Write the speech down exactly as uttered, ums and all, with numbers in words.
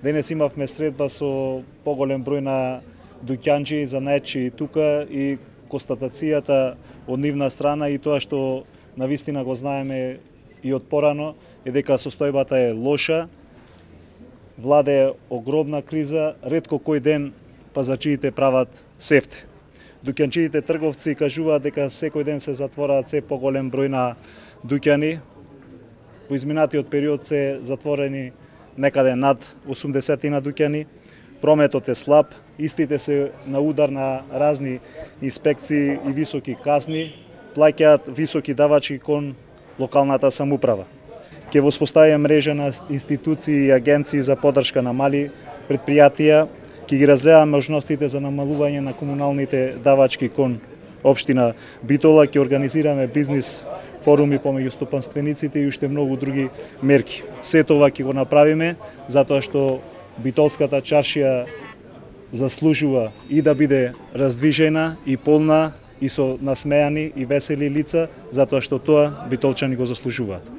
Денес имавме средба со поголем број на дуќанчи, занаетчи и тука и констатацијата од нивна страна и тоа што навистина го знаеме и од порано е дека состојбата е лоша, владе огромна криза, ретко кој ден пазачиите прават сефте. Дуќанчиите трговци кажуваат дека секој ден се затвораат се поголем број на дуќани. Во изминатиот период се затворени некаде над осумдесет на дуќани. Прометот е слаб, истите се на удар на разни инспекции и високи казни, плаќаат високи давачи кон локалната самоуправа. Ќе воспоставиме мрежа на институции и агенции за поддршка на мали предпријатија, ќе ги разгледаме можностите за намалување на комуналните давачки кон општина Битола, ќе организираме бизнис форуми помеѓу стопанствениците и уште многу други мерки. Се тоа ќе го направиме затоа што Битолската чаршија заслужува и да биде раздвижена и полна и со насмејани и весели лица, затоа што тоа битолчани го заслужуваат.